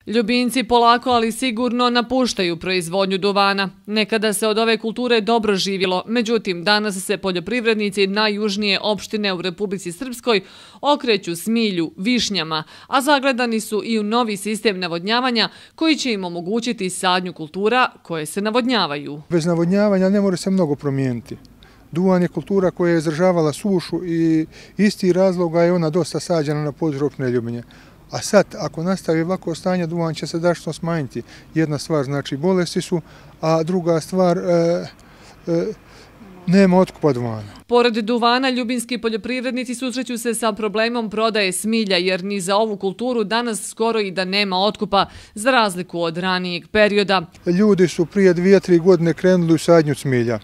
Ljubinci polako, ali sigurno napuštaju proizvodnju duvana. Nekada se od ove kulture dobro živjelo, međutim danas se poljoprivrednici najjužnije opštine u Republici Srpskoj okreću smilju, višnjama, a zagledani su i u novi sistem navodnjavanja koji će im omogućiti sadnju kultura koje se navodnjavaju. Bez navodnjavanja ne može se mnogo promijeniti. Duvan je kultura koja je izdržavala sušu i isti razloga je ona dosta sađena na području opštine Ljubinje. A sad, ako nastavi ovako stanje, duvan će se drastično smanjiti. Jedna stvar, znači, bolesti su, a druga stvar, nema otkupa duvana. Pored duvana, ljubinski poljoprivrednici susreću se sa problemom prodaje smilja, jer ni za ovu kulturu danas skoro i da nema otkupa, za razliku od ranijeg perioda. Ljudi su prije 2-3 godine krenuli u sadnju smilja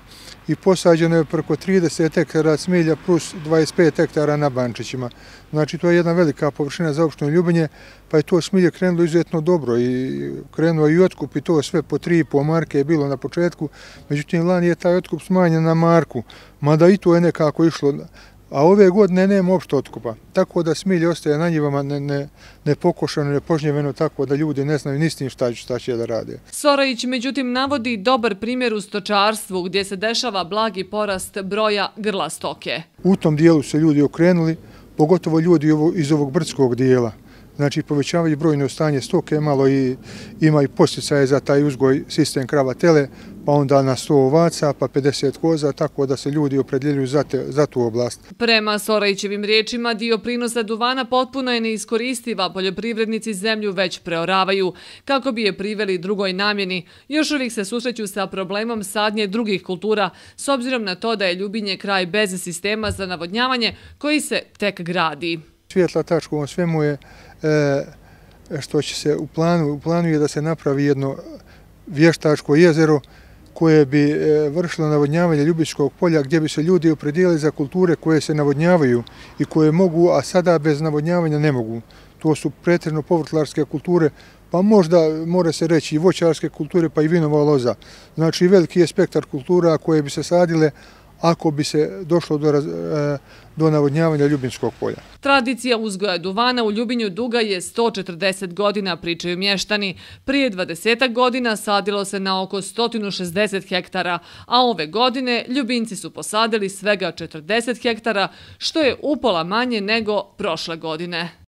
i posađeno je preko 30 hektara smilja plus 25 hektara na Bančićima. Znači, to je jedna velika površina za opštinu Ljubinje, pa je to smilje krenulo izuzetno dobro i krenuo i otkup i to sve po 3,5 marke je bilo na početku. Međutim, lani je taj otkup smanjen na marku, mada i to je nekako išlo, a ove godine nema uopšte otkupa. Tako da smilje ostaje na njivama nepokošano, nepožnjeveno, tako da ljudi ne znaju ni s tim šta će da rade. Sorojić, međutim, navodi dobar primjer u stočarstvu gdje se dešava blagi porast broja grla stoke. U tom dijelu se ljudi okrenuli, pogotovo ljudi iz ovog brdskog dijela. Znači, povećavaju brojno stanje stoke, malo i ima i posticaje za taj uzgoj sistem krava tele, pa onda na 100 ovaca, pa 50 koza, tako da se ljudi opredjeljuju za tu oblast. Prema Sorojićevim riječima, dio prinosa duvana potpuno je neiskoristiva, poljoprivrednici zemlju već preoravaju. Kako bi je priveli drugoj namjeni, još uvijek se susreću sa problemom sadnje drugih kultura, s obzirom na to da je Ljubinje kraj bez sistema za navodnjavanje koji se tek gradi. Svijetla tačka u svemu je što će se u planu je da se napravi jedno vještačko jezero koje bi vršilo navodnjavanje Ljubičkog polja, gdje bi se ljudi opredijelili za kulture koje se navodnjavaju i koje mogu, a sada bez navodnjavanja ne mogu. To su pretežno povrtlarske kulture, pa možda mora se reći i voćarske kulture, pa i vinova loza. Znači, veliki je spektar kultura koje bi se sadile ako bi se došlo do navodnjavanja Ljubinskog polja. Tradicija uzgoja duvana u Ljubinju duga je 140 godina, pričaju mještani. Prije 20 godina sadilo se na oko 160 hektara, a ove godine Ljubinci su posadili svega 40 hektara, što je upola manje nego prošle godine.